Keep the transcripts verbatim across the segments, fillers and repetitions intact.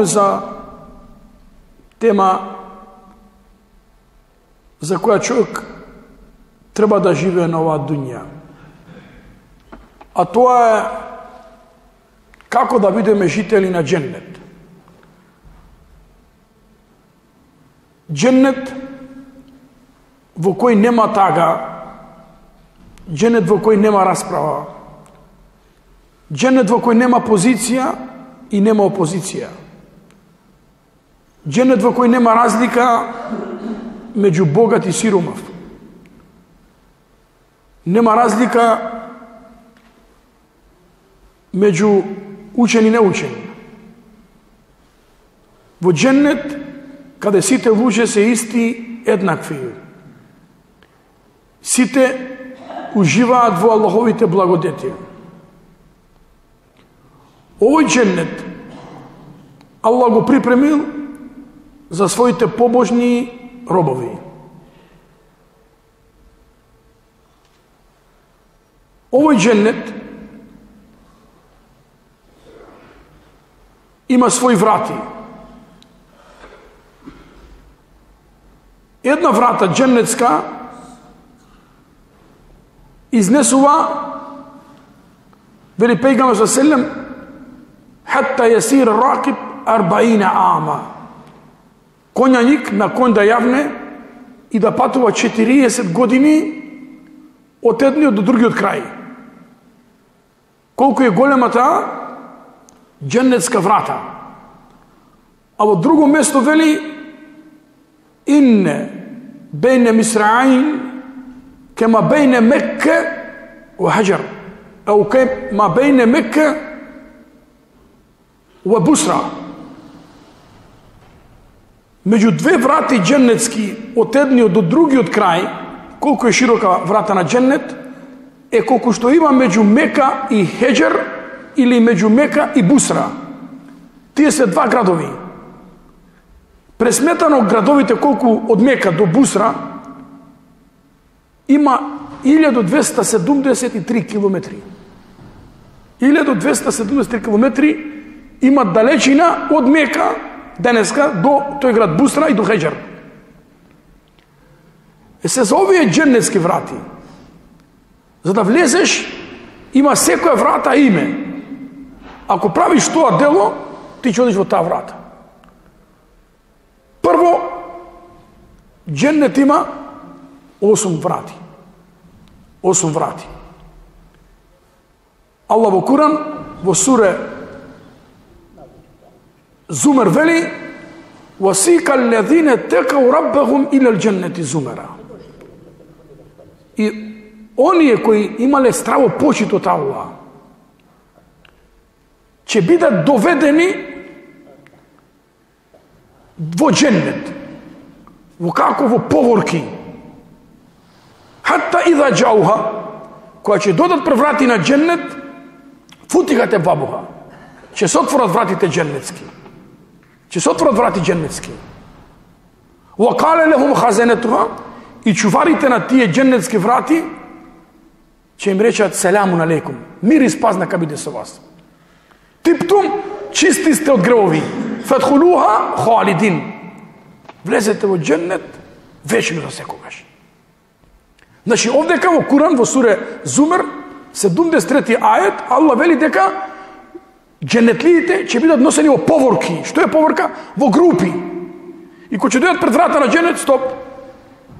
За тема за која човек треба да живее на оваа дуња. А тоа е како да бидеме жители на дженнет. Дженнет во кој нема тага, дженнет во кој нема расправа, дженнет во кој нема позиција и нема опозиција. Дженнет во кој нема разлика меѓу богат и сиромав. Нема разлика меѓу учен и неучен. Во дженнет, каде сите луѓе се исти, еднакви. Сите уживаат во Аллаховите благодети. Овој дженнет Аллах го припремил за своите побожни робови. Овој дженнет има своји врати. Една врата дженнетска изнесува, вели пејгамбер саллаллаху алейхи ва селем, хатта јасир ракиб арбаина ама. Конјаник на конј да јавне и да патува четириесет години од едниот до другиот крај. Колку е голема таа дженнетска врата. А во друго место вели инне бейне мисраин кема бейне Мекке ва Хаджар, ау кема бейне Мекке ва Бусра. Меѓу две врати дженнетски од едниот до другиот крај, колку е широка врата на дженнет, е колку што има меѓу Мека и Хеджер или меѓу Мека и Бусра. Тие се два градови. Пресметано градовите колку од Мека до Бусра има илјаду двеста седумдесет и три километри. илјаду двеста седумдесет и три километри има далечина од Мека денеска до тој град Бусра и до Хеджер. Е се за овие дженнетски врати. За да влезеш, има секоја врата име. Ако правиш тоа дело, ти ќе одиш во таа врата. Прво, дженнет има осум врати. Осум врати. Аллах во Куран, во суре Зумер вели: "Васика аллазина текау раббахум илал дженнети зумера." И оние кои имале страво почит од Аллах ќе бидат доведени во дженнет, во како во поворки. Хатта иза джауха, кога ќе додат пред врати на дженнет, футихате бабуха, ќе се отворат вратите дженнетски. Ќе се отворат врати дженнетски. Ва кале лехум хазенетуха, и чуварите на тие дженнетски врати ќе им речат: "Селамун алейкум, мир и спас нека биде со вас. Типтум, чисти сте од гревови. Фадхулуха халидин." Влезете во дженнет вечно за секогаш. Значи, овдека во Куран, во суре Зумер, седумдесет и трети ајет, Аллах вели дека дженетлиите ќе бидат носени во поворки. Што е поворка? Во групи. И кога ќе дојдат пред врата на дженет, стоп.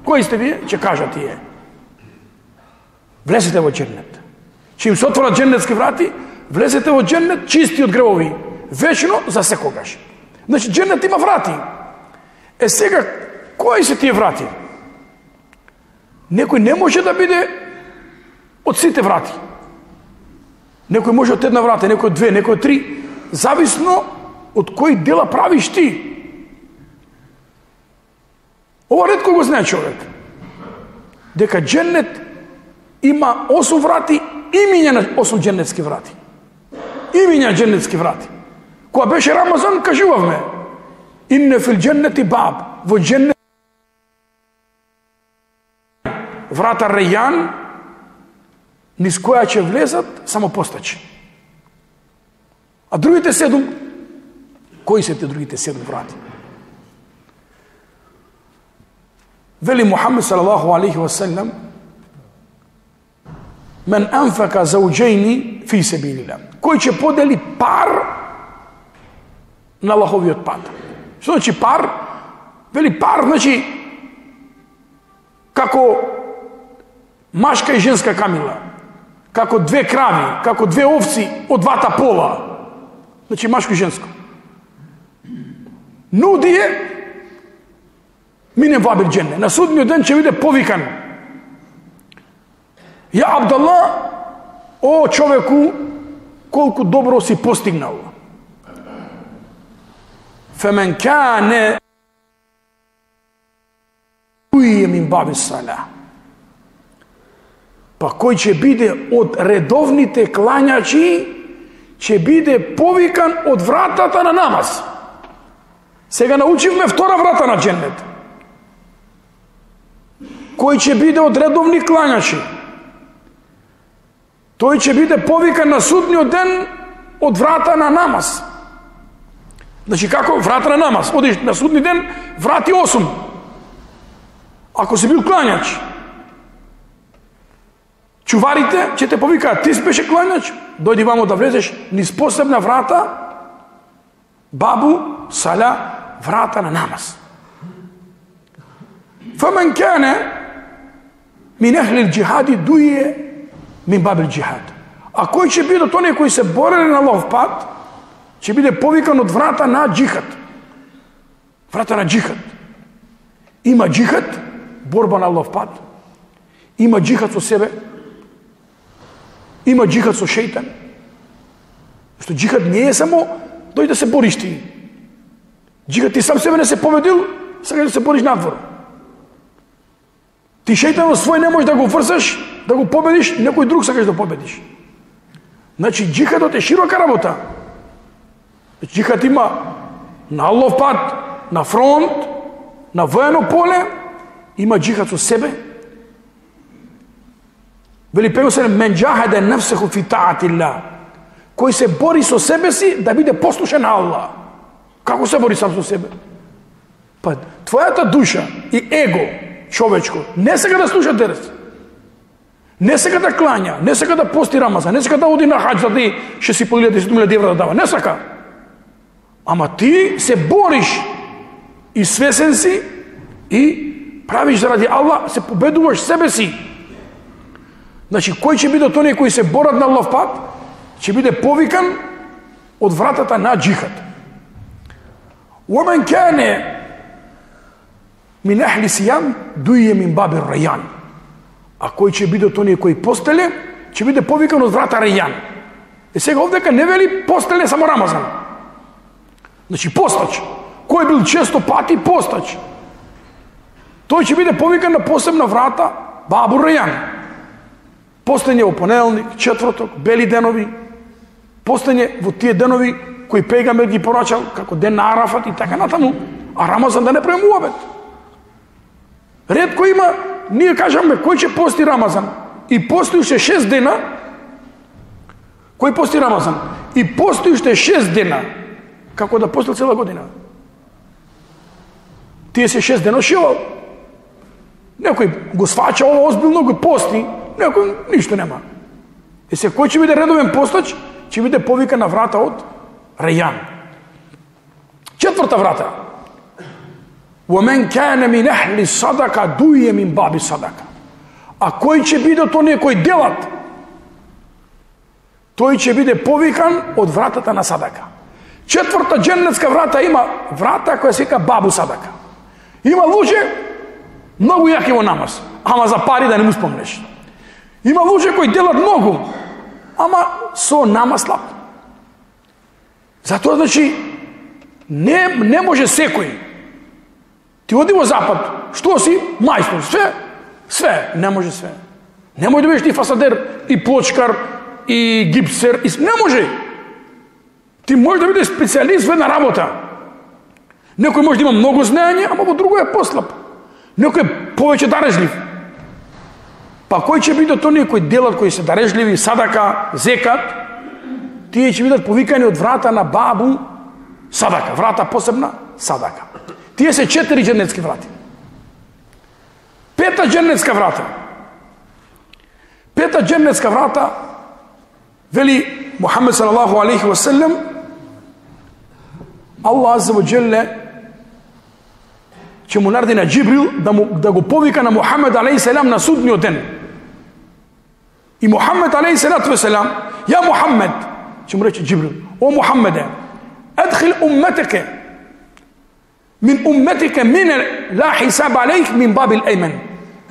Кои сте вие? Ќе кажат тие. Влезете во дженет. Ќе им се отворат дженетски врати, влезете во дженет чисти од гревови. Вечно за секогаш. Значи, дженет има врати. Е сега, кои се тие врати? Некој не може да биде од сите врати. Некој може од една врата, некој од две, некој од три. Зависно од кои дела правиш ти. Ова ретко го знае човек. Дека дженет има осум врати, имиња на осум дженетски врати. Имиња дженетски врати. Кога беше Рамазан, кажувавме: "Инне фил дженнети баб", во дженнет врата Рејан, низ која ќе влезат само постачи. А другите седум, кои се те другите седум врати? Вели Мухаммед салаллаху алейхи ва саллям: "Мен анфака зауџейни фи себилилlah." Кој ќе подели пар на Аллаховиот пат. Што значи пар? Вели пар значи како машка и женска камила, како две крави, како две овци од двата пола. Значи машко и женско. Нудие мине вабил дженне. На судниот ден ќе биде повикан: "Ја Абдалла, о човеку, колку добро си постигнал. Фемен кане уие мин баби сала." Па кој ќе биде од редовните клањачи, ќе биде повикан од вратата на намаз. Сега научивме втора врата на дженнет. Кој ќе биде од редовни клањачи, тој ќе биде повикан на судниот ден од врата на намаз. Значи како врата на намаз? Одиш на судни ден, врати осум. Ако си бил клањач, чуварите ќе те повикаат: "Ти си беше клањач, дојди вамо да влезеш низ посебна врата, бабу сала, врата на намаз." Фамен кане мин ахли джихади дуе мин бабил джихад. А кој ќе биде од оние кои се борели на Аллахов пат, ќе биде повикан од врата на джихад. Врата на джихад. Има джихад, борба на Аллахов пат. Има джихад со себе. Има джихад со шејтан. Што джихад не е само дојди да се бориш ти. Джихад ти сам себе не се победил, сега да се бориш надвор. Ти шејтанот свој не можеш да го врзаш, да го победиш, некој друг сакаш да победиш. Значи джихадот е широка работа. Джихад има на Аллахов пат, на фронт, на воено поле, има джихад со себе. Вели пегосе: "Мен джахаде нафсеху фи таатилlah." Кој се бори со себе си да биде послушен на Аллах. Како се бори сам со себе? Па твојата душа и его човечко не сека да слуша дерс, не сека да клања, не сека да пости Рамазан, не сека да оди на хаџ за ти ще си по десет илјади евра да дава, не сека. Ама ти се бориш и свесен си и правиш заради Аллах, се победуваш себе си. Значи кој ќе биде од оние кои се борат на Аллахов пат, ќе биде повикан од вратата на джихад. ومن كان من أهل الصيام дуе мин баби Рејан. А кој ќе биде од оние кои постеле, ќе биде повикан од врата Рејан. И сега овдека не вели постеле само Рамазан. Значи постач, кој бил често пати постач, тој ќе биде повикан на посебна врата бабу Рејан. Постење во понеделник, четврток, бели денови, постење во тие денови кои пегамбер ги порачал, како ден на Арафат и така натаму, а Рамазан да не правим уабет. Ретко има, ние кажаме, кој ќе пости Рамазан? И пости уште шест дена, кој пости Рамазан? И пости уште шест дена, како да постил цела година. Тие се шест дена шивал. Некој го свача ова озбилно, го пости, некој ништо нема. И се кој ќе биде редовен постач, ќе биде повика на врата од Рејан. Четврта врата. ومن كان من أهل الصدقة дуе мин баби садака. А кој ќе биде од оние кои делат, тој ќе биде повикан од вратата на садака. Четврта дженнетска врата има врата која се вика бабу садака. Има луѓе многу јаки во намаз, ама за пари да не му спомнеш. Има луѓе кои делат многу, ама со намаз слаб. Затоа значи не не може секој. Ти оди во запад, што си? Мајстор, све, све, не може све. Не може да бидеш ти фасадер, и плочкар, и гипсер, и... не може. Ти може да бидеш специјалист во една работа. Некој може да има многу знаење, ама во друго е послаб. Некој е повеќе дарежлив. Па кој ќе бидат оние кои делат, кои се дарежливи, садака, зекат, тие ќе бидат повикани од врата на бабу садака, врата посебна садака. Тие се четири дженнетски врати. Пета дженнетска врата. Пета дженнетска врата, вели Мухамед салалаху алейхи ва селем, Аллах азза ва джелле ќе му нареди на Джибрил да, му, да го повика на Мухамед алейхи селам на судниот ден. И Мухамед алейхи салату ва селам, ја Мухамед, ќе му рече Джибрил, о Мухамеде, адхил умметеке, мин умметеке мине ла хисаб алейх мин бабил еймен.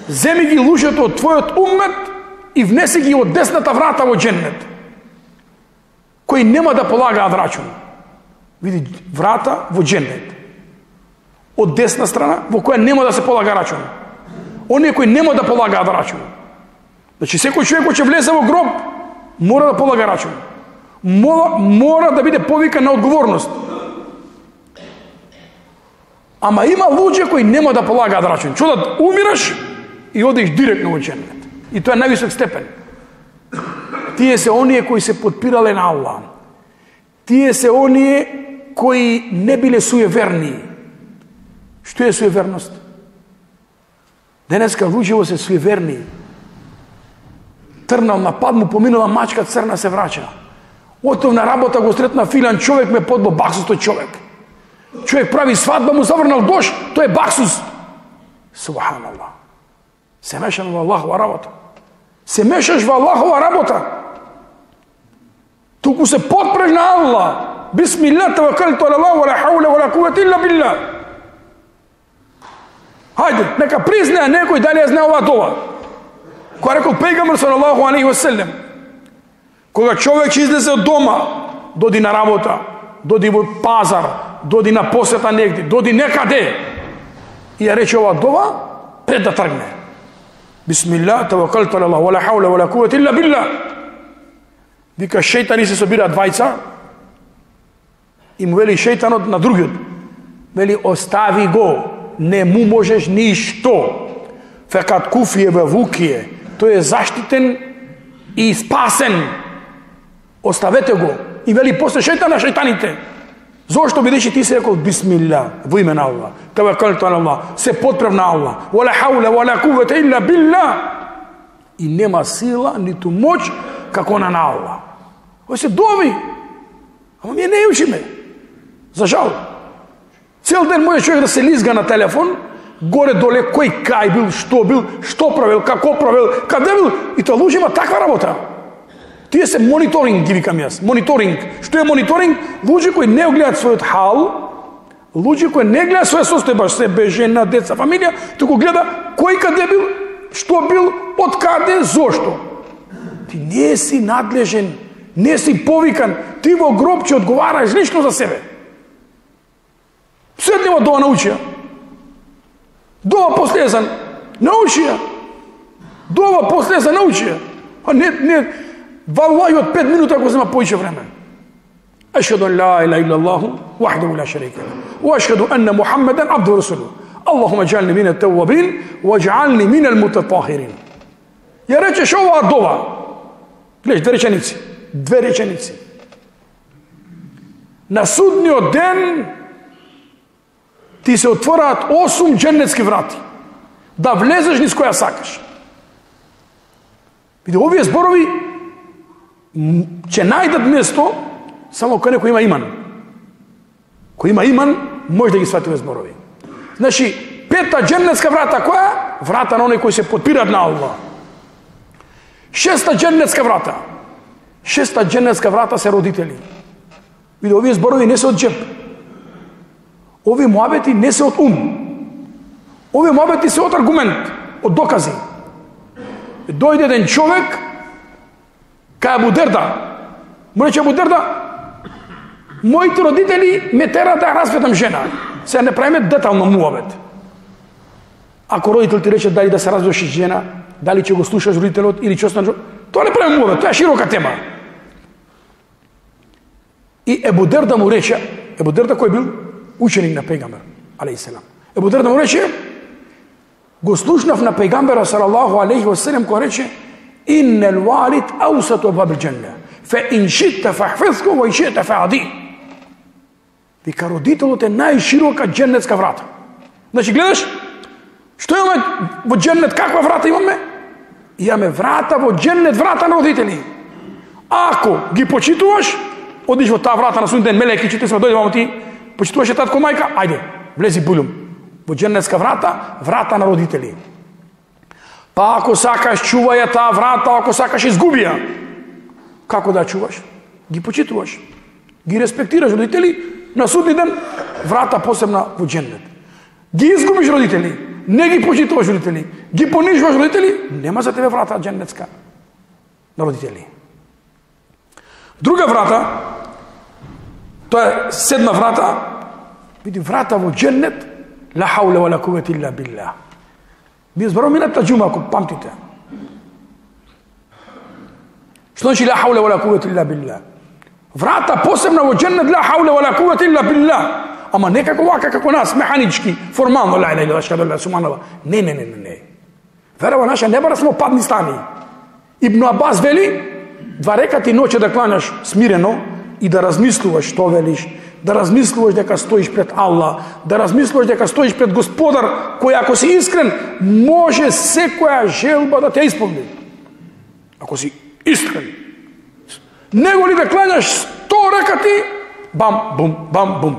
Земи ги луѓето од твојот уммет и внеси ги од десната врата во дженнет, кои нема да полагаат рачун. Види, врата во дженнет. Од десна страна, во која нема да се полага рачун. Оние кои нема да полагаат рачун. Значи, секој човек кој ќе влезе во гроб, мора да полага рачун. Мора, мора да биде повикан на одговорност. Ама има луѓе кои нема да полагаат рачун. Чудат, умираш и одиш директно во дженнет. И тоа е највисок степен. Тие се оние кои се подпирале на Аллах. Тие се оние кои не биле суеверни. Што е суеверност? Денеска луѓето се суеверни. Трнал на пад, му поминала мачка црна, се врача. Отов на работа, го сретна филан човек, ме подбо баксус тој човек. Човек прави свадба, му заврнал дош, тој е баксус. Субханаллах. Се мешаш во Аллахова работа. Се мешаш во Аллахова работа. Туку се подпреш на Аллах. Бисмилlah, таваккалту ала Аллах, вала хаула, вала куввата илля билlah. Хајде, нека признае некој дали ја знае оваа дова. Која рекол пејгамбер салаллаху алейхи ва селем, кога човек ќе излезе од дома, доди на работа, доди во пазар, доди на посета негде, доди некаде, и ја рече оваа дова, пред да тргне. Бисмилlah, таваккалту ала Аллах, вала хаула, вала куввата илля билlah. Вика, шејтани се собираат двајца, и му вели шејтанот на другиот, вели, остави го, не му можеш ништо. Фекат куфие ве вукие, тој е заштитен и спасен. Оставете го. И вели после шејтан на шејтаните. Зошто бидејќи ти се рекол бисмилlah, во име на Аллах, таваккалту ала Аллах, се подпрев на Аллах, вала хаула, вала куввата илля билlah. И нема сила, ниту моќ, како на на Аллах. Ој се дови. Ама ние не учиме. За жал. Цел ден може човек да се лизга на телефон, горе-доле, кој кај бил, што бил, што правил, како правил, каде бил, и тоа луѓе има таква работа. Тие се мониторинг, ги викам јас, мониторинг. Што е мониторинг? Луѓе кои не гледаат својот хал, луѓе кои не гледаат своја состојба, себе, жена, деца, фамилија, туку гледа кој каде бил, што бил, од каде, зошто. Ти не си надлежен, не си повикан, ти во гроб ќе одговараш лично за себе. Седнева дова научија. Дова последзан научија. Дова последзан научија. А не, не, валлаји од пет минута ако зема поише време. Ашхаду ан ла илаха иллаллаху вахдаху ла шарика лаху ва ашхаду анна Мухаммадан абдуху ва расулуху. Allahumma ij'alni min at-tawwabin waj'alni min al-mutatahhirin. Ја речеш оваа дова. Гледаш, две реченици. Две реченици. На судниот ден ти се отвораат осум дженнетски врати. Да влезеш низ која сакаш. Види, овие зборови ќе најдат место само кај некој има иман. Кој има иман, може да ги свати овие зборови. Значи, пета дженнетска врата која? Врата на оној кој се подпират на Аллах. Шеста дженнетска врата. Шеста дженнетска врата се родители. Види, овие зборови не се од джеб. Овие муабети не се од ум. Овие муабети се од аргумент, од докази. Дојде еден човек кај Абу Дерда. Му рече Абу Дерда, моите родители ме терат да разведам жена. Сега не правиме детално муабет. Ако родител ти рече дали да се разведеш жена, дали ќе го слушаш родителот или ќе останеш, тоа не правиме муабет, тоа е широка тема. И Абу Дерда му рече, Абу Дерда кој бил ученик на пејгамбер алейхи селам. Абу Дерда му рече, го слушнав на пејгамбера салаллаху алейхи ва селем кој рече: "Иннел валид аусату абвабил џенне, фе ин ши'та фахфизху ва ин ши'та фаъди." Вика, родителот е најширока џеннетска врата. Значи, гледаш, што имаме во џеннет, каква врата имаме? Имаме врата во џеннет, врата на родители. Ако ги почитуваш, одиш во таа врата на суден ден, мелеки, че ти сме дојде мамо ти, почитуваше татко мајка, ајде, влези булум. Во џеннетска врата, врата на родители. Па ако сакаш, чувај ја таа врата, ако сакаш, изгуби ја. Како да чуваш? Ги почитуваш. Ги респектираш родители, на судни ден, врата посебна во џеннет. Ги изгубиш родители, не ги почитуваш родители, ги понижуваш родители, нема за тебе врата џеннетска на родители. Друга врата, тоа е седма врата, види врата во џеннет, ла хауле ва ла куввете илля билlah. Би зборуваме мината џума, ако памтите. Што значи ла хауле ва ла куввете илля билlah? Врата посебна во џеннет, ла хауле ва ла куввете илля билlah. Ама не како вака, како нас, механички, формално, ла иля иля шхаду ла субханаллах. Не, не, не, не, не. Верава наша не бара само падни стани. Ибн Абас вели, два рекати ноќе да кланяш смирено и да размислуваш што велиш, да размислуваш дека стоиш пред Аллах, да размислуваш дека стоиш пред Господар, кој ако си искрен, може секоја желба да те исполни. Ако си искрен. Него ли да кланяш сто рекати, бам, бум, бам, бум.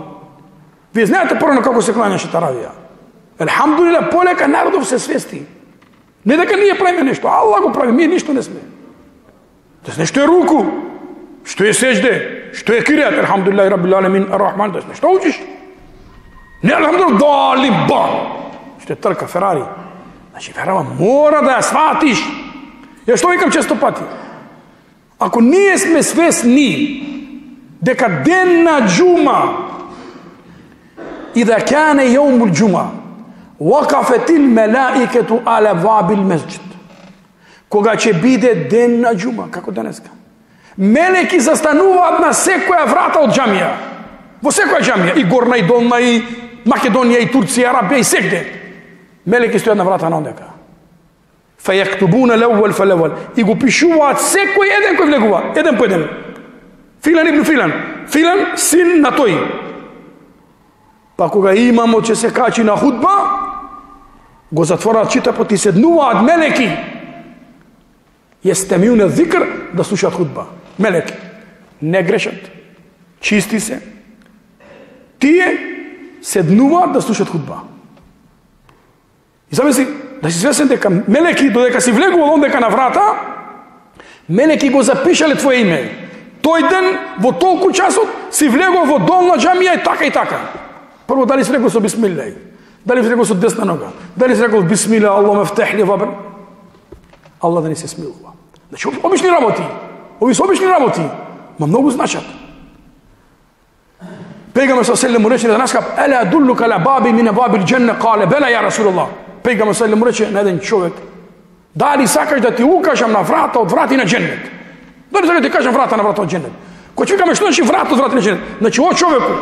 Вие знаете порано како се кланяше таравија. Елхамдулилlah, полека народов се свести. Не дека ние правиме нешто, Аллах го прави, ние ништо не сме. Да се нешто е руку, што е сеџде, што е киријат, елхамдулилlah, раббил алемин, ар-рахман, да се нешто учиш. Не, елхамдулилlah, дали, бам, што е трка, Ферари. Значи, верава, мора да ја сватиш. Ја што викам често пати? Ако ние сме свесни дека ден на џума إذا كان يوم الجمعة وقفت الملائكة على باب المسجد, кога ќе биде ден на џума, како денеска, мелеки застануваат на секоја врата од џамија, во секоја џамија, и горна, и долна, и Македонија, и Турција, Арабија, и сегде. Мелеки стојат на врата на ондека. فَيَكْتُبُونَ الْأَوَّلَ فَالْأَوَّلَ, и го пишуваат секој еден кој влегува, еден по еден. Филан ибн Филан, Филан син на тој. Па кога имамо че се качи на худба, го затворат читапот и седнуваат мелеки. Јестемиуне зикр, да слушаат худба. Мелеки. Не грешат. Чисти се. Тие седнуваат да слушаат худба. И замисли, да си свесен дека мелеки, додека си влегувал ондека на врата, мелеки го запишале твое име. Тој ден, во толку часот, си влегувал во долна џамија и така и така. Прво, дали си рекол со бисмилlah, дали си рекол со десна нога, дали си рекол бисмилlah, Аллах мефтех ли вабр. Аллах да не се смилува. Значи, обични работи. Ови се обични работи, ма многу значат. Пејгамбер саллаллаху алейхи му рече на нас, ела адуллука ала баби мин абвабил џенне, кале бела ја Расулуллах. Пејгамбер саллаллаху алейхи му рече на еден човек, дали сакаш да ти укажам на врата од врати на џеннет? Дали сакаш да ти кажам врата на врата од џеннет? Кој ќе викаме што значи врата од врати на џеннет? Значи, о човеку,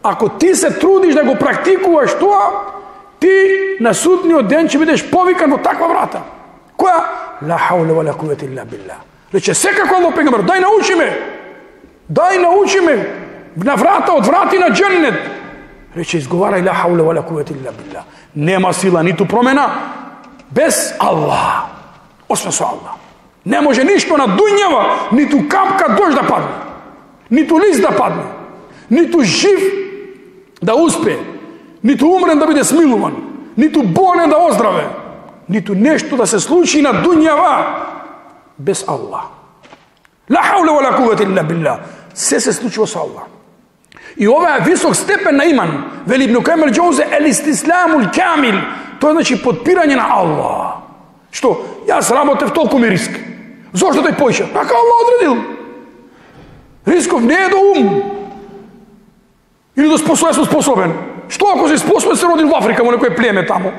ако ти се трудиш да го практикуваш тоа, ти на судниот ден ќе бидеш повикан во таква врата. Која? Ла хауле ва ла куввете илля билlah. Рече, секако Аллах пејгамбер, дај научи ме. Дај научи ме на врата од врати на џеннет. Рече, изговарај ла хауле ва ла куввете илля билlah. Нема сила ниту промена без Аллах. Освен со Аллах. Не може ништо на дуњава, ниту капка дожд да падне, ниту лист да падне, ниту жив да успе, ниту умрен да биде смилуван, ниту болен да оздраве, ниту нешто да се случи на дуњава без Аллах. Ла хауле ва ла куввете илля билlah. Се се случува со Аллах. И ова е висок степен на иман. Вели Ибн Кајим ал-Џаузи, ел истисламул камил. Тоа значи подпирање на Аллах. Што? Јас работев, толку ми риск. Зошто тој поише? Така Аллах одредил. Рисков не е до ум. Или до способен, сум способен. Што ако си способен, се родил во Африка, во некој племе тамо?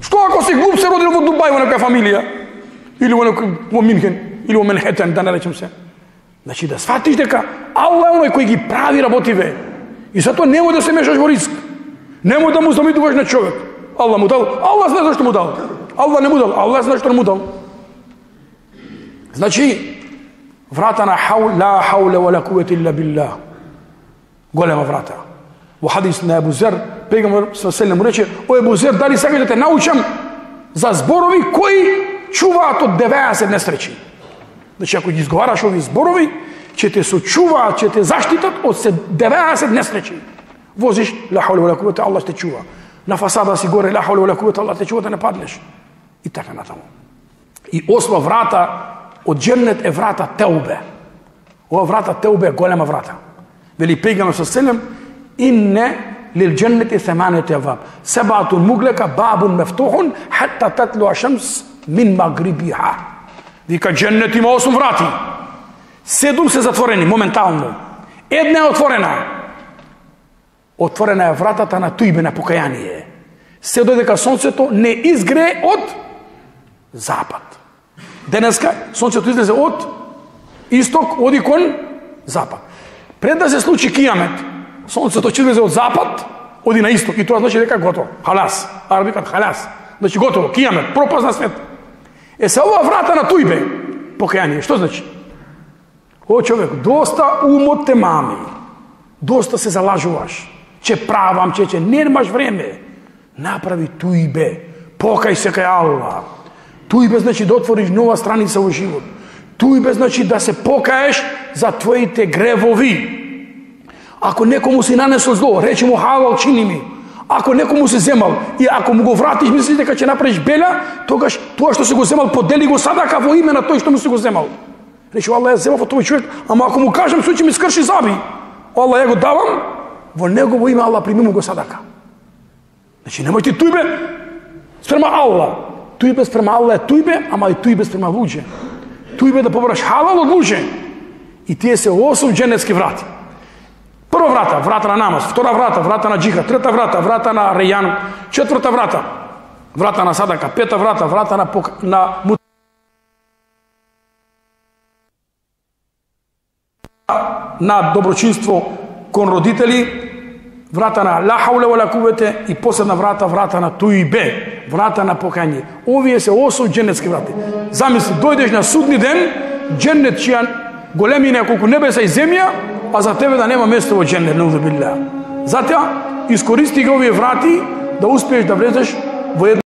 Што ако си глуп, се родил во Дубај, во некоја фамилија? Или во некој, во Минхен, или во Манхетен, да не речем се. Значи да сватиш дека Аллах е оној кој ги прави работиве. И затоа немој да се мешаш во риск. Немој да му замидуваш на човек. Allah mu dal, Allah zna zašto mu dal. Allah ne mu dal, Allah zna što mu dal. Znači, vrata na haul, la haule wa la kuvvete illa billah. Golema vrata. U hadis na Ebu Zer, pejgamber sallallahu alejhi ve sellem mu reče: o Ebu Zer, da li sad da te naučam za zborovi koji čuvat od devedeset nesreći? Znači, ako izgovaraš ovi zborovi, će te sačuvat, će te zaštitat od devedeset nesreći. Voziš, la haule wa la kuvvete, Allah te čuva. Na fasada si gore, la haule wa la kuvvete, Allah te čuva da ne padneš. I tako na tamo. I osma vrata od džennet je vrata teube. Ova vrata teube je golema vrata. Veli pejgamber sallallahu alejhi ve sellem: inne lil dženneti thamaniyat abwab, sab'atun muglaka, babun maftuhun hatta tatlu ash-shams min magribiha. Vika, džennet ima osam vrati. Sedam se zatvoreni momentalno. Една je otvorena. Otvorena je vratата на тујбе, на покаяние. Се додека сонцето не изгре од запад. Денеска сонцето излезе од исток, оди кон запад. Пред да се случи кијамет, сонцето ќе излезе од запад, оди на исток, и тоа значи дека готово. Халас. Араби кажат халас. Значи готово, кијамет, пропаст на свет. Е, се ова врата на тујбе, покаяние, што значи? О, човек, доста умот те мами. Доста се залажуваш. Че правам, че че немаш време. Направи тујбе. Покај се кај Аллах. Тујбе значи да отвориш нова страница во живот. Тујбе значи да се покаеш за твоите гревови. Ако некому си нанесол зло, речи му халал, чини ми. Ако некому си земал и ако му го вратиш, мислиш дека ќе направиш беля, тогаш тоа што си го земал, подели го садака во име на тој што му си го земал. Речи, Аллах, ја земав од тој човек, ама ако му кажем, суј ќе ми скрши заби. Аллах, ја го давам, во негово име, Аллах, прими му го садака. Значи, немојте тујбе спрема Аллах. Тујбе спрема Аллах е тујбе, ама и тујбе спрема луѓе. Тујбе да побараш халал од луѓе. И тие се осум дженетски врати. Прва врата, врата на намаз. Втора врата, врата на джихад. Трета врата, врата на рејан. Четврта врата, врата на садака. Пета врата, врата на, пок... на на доброчинство кон родители, врата на ла хауле ва ла куввете и последна врата, врата на тујбе, врата на покање. Овие се осум дженетски врати. Замисли, дојдеш на судни ден, дженет чија големина е колку небеса и земја, а за тебе да нема место во дженет, наузу билlah. Затоа искористи ги овие врати да успееш да влезеш во една